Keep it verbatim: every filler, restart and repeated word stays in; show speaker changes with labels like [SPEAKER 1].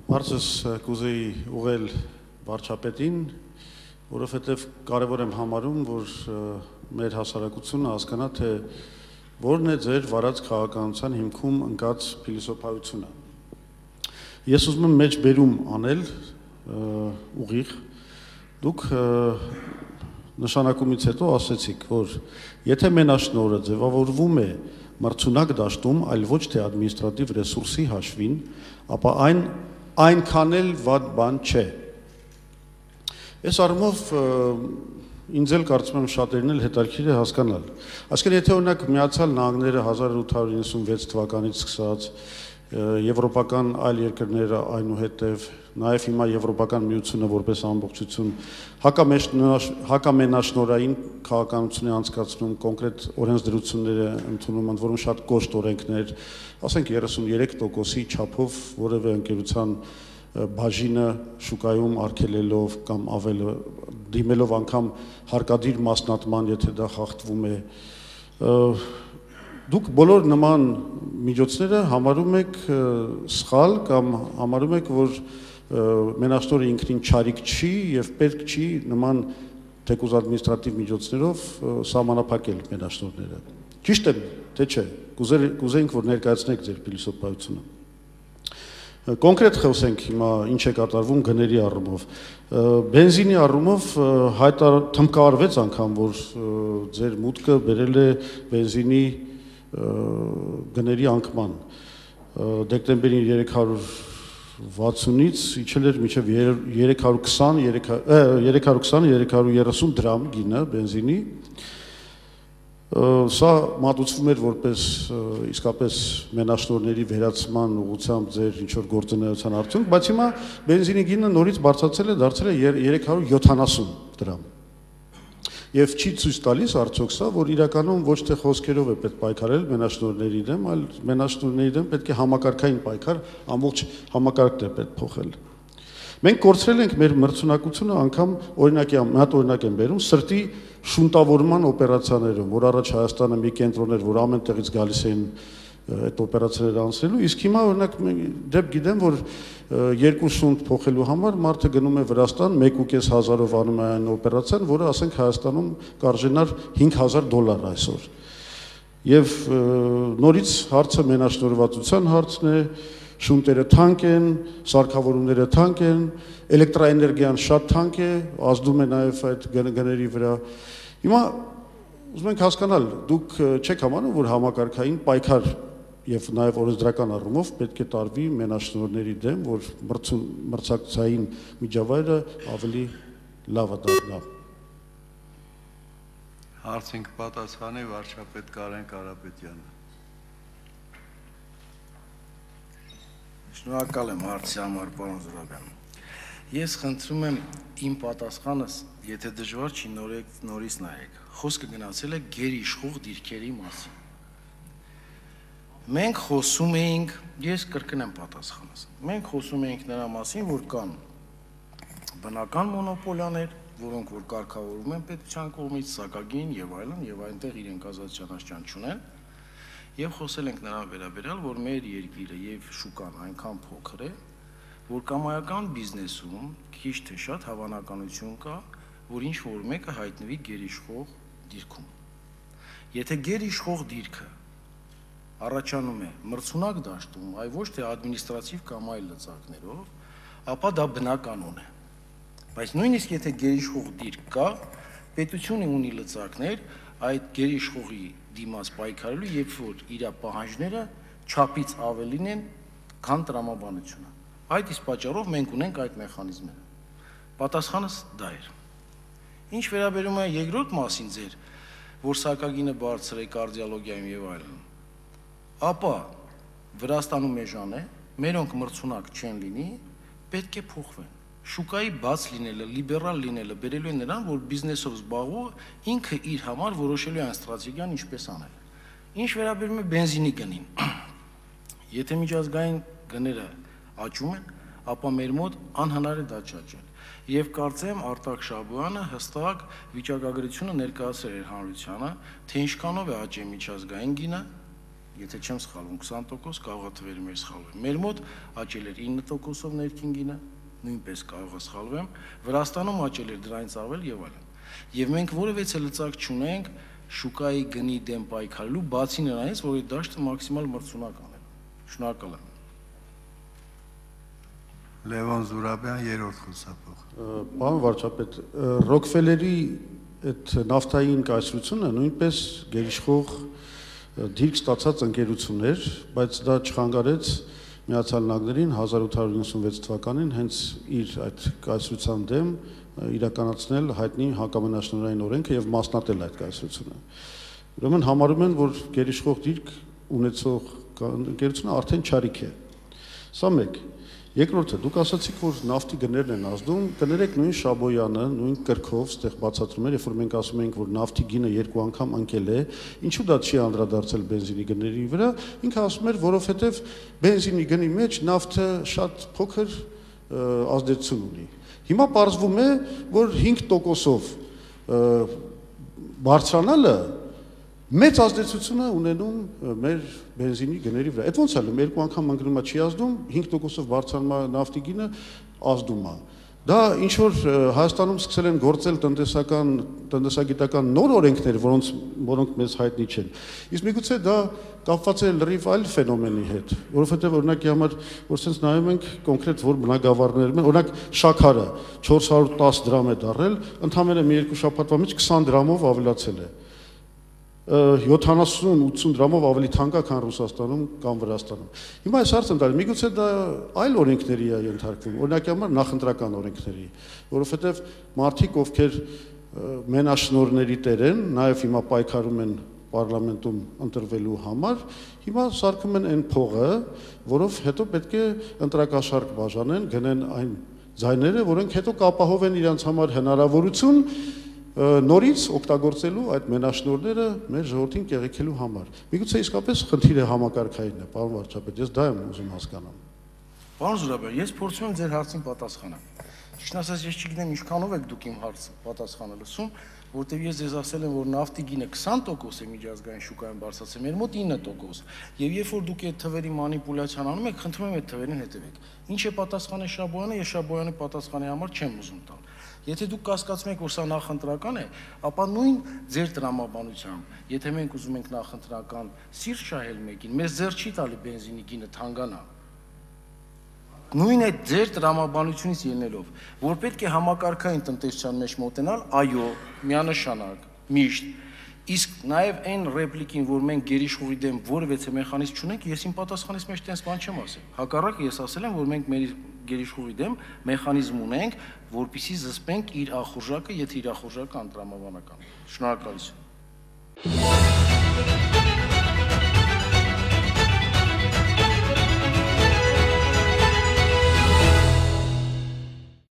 [SPEAKER 1] Հարցս կուզեի ուղղել վարչապետին, որովհետև կարևոր եմ համարում, որ մեր հասարակությունը հասկանա, թե որն է ձեր վարած քաղաքականության հիմքում ընկած փիլիսոփայությունը։ Ես ուզում եմ մեջ բերում անել ուղիղ, դուք նշանակումից հետո ասեցիք, որ եթե մենաշնորհը ձևավորվում է մրցունակ դաշտում, այլ ոչ թե ադմինիստրատիվ ռեսուրսի հաշվին, ապա այն այնքան էլ վատ բան չէ։ Այս առումով ինձ էլ կարծում եմ շատերին էլ հետաքրքիր է հասկանալ։ Այսինքն եթե օրինակ Միացյալ Նահանգները հազար ութ հարյուր իննսունվեց թվականից սկսած, եվրոպական այլ երկրները այնուհետև, նաև հիմա Եվրոպական միությունը որպես ամբողջություն հակամենաշնորհային քաղաքականություն է անցկացնում, կոնկրետ օրենսդրություններ է ընդունում, ընդ որում շատ կոշտ օրենքներ, ասենք երեսուններեք տոկոսի չափով որևէ ընկերության բաժինը շուկայում արգելելով կամ ավել դիմելով անգամ հարկադիր մասնատման, եթե դա խախտվում է, դուք բոլոր նման միջոցները համարում եք սխալ կամ համարում եք, որ մենաշնորհը ինքնին չարիք չի եւ պետք չի նման թեկուզ ադմինիստրատիվ միջոցներով սահմանափակել մենաշնորհները։ Ճիշտ է, թե չէ։ Կուզեինք, որ ներկայացնեք ձեր փիլիսոփայությունը։ Կոնկրետ խոսենք հիմա ինչ է կատարվում գների առումով։ Բենզինի առումով թմկահարվեց անգամ, որ ձեր մուտքը բերել է բենզինի գների անկման։ Դեկտեմբերին երեք հարյուր վաթսունից իջել էր մինչև երեք հարյուր քսան երեք հարյուր երեսուն դրամ գինը բենզինի։ Սա մատուցվում էր որպես իսկապես մենաշնորհների վերացման ուղղությամբ ձեր ինչ-որ գործունեության արդյունք, բայց հիմա բենզինի գինը նորից բարձրացել է, դարձել է երեք հարյուր յոթանասուն դրամ։ Եվ չի ցույց տալիս արդյոք սա, որ իրականում ոչ թե խոսքերով է պետք պայքարել մենաշնորհների դեմ, այլ մենաշնորհների դեմ պետք է համակարգային պայքար, ամբողջ համակարգն է պետք փոխել։ Մենք կորցրել ենք մեր մրցունակությունը անգամ օրինակի մի հատ օրինակ եմ բերում սրտի շունտավորման օպերացիաներում, որ առաջ Հայաստանը մի կենտրոն էր, որ ամեն տեղից գալիս էին այդ օպերացիաները անցնելու, իսկ հիմա օրինակ դեպ գիտեմ, որ երկու շունտ փոխելու համար մարդը գնում է Վրաստան, մեկ ու կես հազարով անում է այն օպերացիան, որը ասենք Հայաստանում կարժենար հինգ հազար դոլար այսօր։ Եվ նորից հարցը մենաշնորհվածության հարցն է, շունտերը թանկ են, սարքավորումները թանկ են, էլեկտրաէներգիան շատ թանկ է, ազդում է նաև այդ գների վրա։ Հիմա ուզում ենք հասկանալ, դուք չեք համարում, որ համակարգային պայքար եւ նաև օրենսդրական առումով պետք է տարվի մենաշնորհների դեմ, որ մրցակցային միջավայրը ավելի լավը դառնա։
[SPEAKER 2] Հարցին կպատասխանի վարչապետ Կարեն Կարապետյանը։
[SPEAKER 3] Շնորհակալ եմ հարցի համար, պարոն Զուրաբյան։ Ես խնդրում եմ իմ պատասխանս, եթե դժվար չի, նորից նայեք։ Խոսքը գնացել է գերիշխող դիրքերի մասին։ Մենք խոսում էինք, ես կրկնեմ պատասխանս։ Մենք խոսում էինք նրա մասին, որ կան բնական մոնոպոլիաներ, որոնք որ կարգավորվում են պետության կողմից, սակագին եւ այլն, եւ այնտեղ իրենք ազատության աշճան չունեն։ Եվ խոսել ենք նրան վերաբերյալ, որ մեր երկիրը եւ շուկան այնքան փոքր է, որ կամայական բիզնեսում քիչ թե շատ հավանականություն կա, որ ինչ որ մեկը հայտնվի գերիշխող դիրքում։ Եթե գերիշխող դիրքը առաջանում է մրցունակ դաշտում, այ ոչ թե ադմինիստրատիվ կամ այլ լծակներով, ապա դա բնականon է։ Բայց նույնիսկ եթե գերիշխող դիրք կա, պետությունը ունի լծակներ այդ գերիշխողի դիմաց պայքարելու, երբ որ իր պահանջները չափից ավելին են, քան տրամաբանությունը։ Այդ իսկ պատճառով մենք ունենք այդ մեխանիզմները։ Պատասխանս դա էր։ Ինչ վերաբերում է երկրորդ մասին ձեր, որ սակագինը բարձր է կարդիոլոգիայում եւ այլն, ապա Վրաստանում էժան է, մերոնք մրցունակ չեն լինի, պետք է փոխվեն։ Շուկայի բաց լինելը, լիբերալ լինելը բերելու է նրան, որ բիզնեսով զբաղվող ինքը իր համար որոշելու է այն ստրատեգիան ինչպես անել։ Ինչ վերաբերում է բենզինի գնին, եթե միջազգային գները աճում են, ապա մեր մոտ անհնար է դա չաճել։ Եվ կարծեմ Արտակ Շաբոյանը հստակ վիճակագրությունը ներկայացրել էր հանրությանը, թե ինչքանով է աճել միջազգային գինը եթե չեմ սխալվում, քսան տոկոս, կարող է թվերի մեջ սխալվեմ։ Մեր մոտ աճել էր ինը տոկոսով ներքին գինը, նույնպես կարող է սխալվեմ, Վրաստանում աճել էր դրանից ավել եւ այլն։ Եվ մենք որևէ լծակ չունենք շուկայի գնի դեմ պայքարելու, բացի նրանից, որ այդ դաշտը մաքսիմալ մրցունակ անել։ Շնորհակալ եմ։
[SPEAKER 2] Լևոն Զուրաբյան, երրորդ խոսափող։
[SPEAKER 1] Պարոն վարչապետ, Ռոքֆելերի այդ նավթային կայսրությունը նույնպես գերիշխող դիրք ստացած ընկերություն էր, բայց դա չխանգարեց Միացյալ Նահանգներին հազար ութ հարյուր իննսունվեց թվականին հենց իր այդ կայսրության դեմ իրականացնել հայտնի հակամենաշնորհային օրենքը եւ մասնատել այդ կայսրությունը։ Ուրեմն համարում են, որ գերիշխող դիրք ունեցող ընկերությունը արդեն չարիք է։ Սա մեկ։ Երկրորդը, դուք ասացիք, որ նավթի գներն են ազդում, կներեք նույն Շաբոյանը, նույն կրքով ստեղ բացատրում էր, երբ որ մենք ասում ենք, որ նավթի գինը երկու անգամ ընկել է, ինչու դա չի անդրադարձել բենզինի գների վրա, ինքը ասում էր, որովհետև բենզինի գնի մեջ նավթը շատ փոքր ազդեցություն ունի։ Հիմա պարզվում է, որ հինգ տոկոսով բարձրանալը մեծ ազդեցություն է ունենում մեր բենզինի գների վրա։ Այդ ոնց է լինում, երկու անգամ ընկնումա չի ազդում, հինգ տոկոսով բարձրանում նավթի գինը ազդում է։ Դա ինչ որ Հայաստանում սկսել են գործել տնտեսական, տնտեսագիտական նոր օրենքներ, որոնց որոնք մեզ հայտնի չեն։ Իսկ միգուցե դա կապված է լրիվ այլ ֆենոմենի հետ, որովհետև օրինակի համար, որ sense նայում ենք կոնկրետ որ բնակավարներում են, օրինակ շաքարը չորս հարյուր տասը դրամ է դառել, ընդամենը մի երկու շաբաթվա մեջ քսան դրամով ավելացել է։ յոթանասուն ութսուն դրամով ավելի թանկ է, քան Ռուսաստանում կամ Վրաստանում։ Հիմա այս հարցը ընդհանրապես միգուցե դա այլ օրենքների է ենթարկվում, օրինակի համար նախընտրական օրենքների, որովհետև մարդիկ, ովքեր մենաշնորհների տեր են, նաև հիմա պայքարում են պարլամենտում ընտրվելու համար, հիմա սարքում են այն փողը, որով հետո պետք է ընտրակաշարք բաժանեն, գնեն այն ձայները, որոնք հետո կապահովեն իրենց համար հնարավորություն նորից օգտագործելու այդ մենաշնորհները մեր ժողովրդին կեղեքելու համար։ Միգուցե իսկապես խնդիրը համակարգային է, պարոն վարչապետ, ես դա եմ ուզում հասկանալ։
[SPEAKER 3] Պարոն Զուրաբյան, ես փորձում եմ ձեր հարցին պատասխանել։ Ճիշտ ասած, ես չգիտեմ ինչքանով եք դուք իմ հարցը պատասխանը լսում, որտեղ ես ձեզ ասել եմ, որ նավթի գինը քսան տոկոս է միջազգային շուկայում բարձրացել, մեր մոտ ինը տոկոս։ Եվ երբ որ դուք այդ թվերի մանիպուլյացիան անում եք, խնդրում եմ այդ թվերին հետևեք։ Ինչ է պատասխանը Շաբոյանը, ես Շաբոյանի պատասխանի համար չեմ ուզում տալ։ Եթե դուք կասկածում եք, որ սա նախընտրական է, ապա նույն ձեր տրամաբանությամբ, եթե մենք ուզում ենք նախընտրական սիրտ շահել մեկին, մեզ ձեռ չի տալի բենզինի գինը թանկանա։ Նույն այդ ձեր տրամաբանությունից ելնելով, որ պետք է համակարգային տնտեսության մեջ մոտենալ, այո, միանշանակ, միշտ։ Իսկ նաև այն ռեպլիկին, որ մենք գերիշխողի դեմ որևէ մեխանիզմ չունենք, ես իմ պատասխանից մեջ տենց բան չեմ ասել։ Հակառակը ես ասել եմ, որ մենք մեր գերիշխողի դեմ մեխանիզմ ունենք, որպեսզի զսպենք իր ախորժակը, եթե իր ախորժակը անտրամաբանական։ Շնորհակալություն։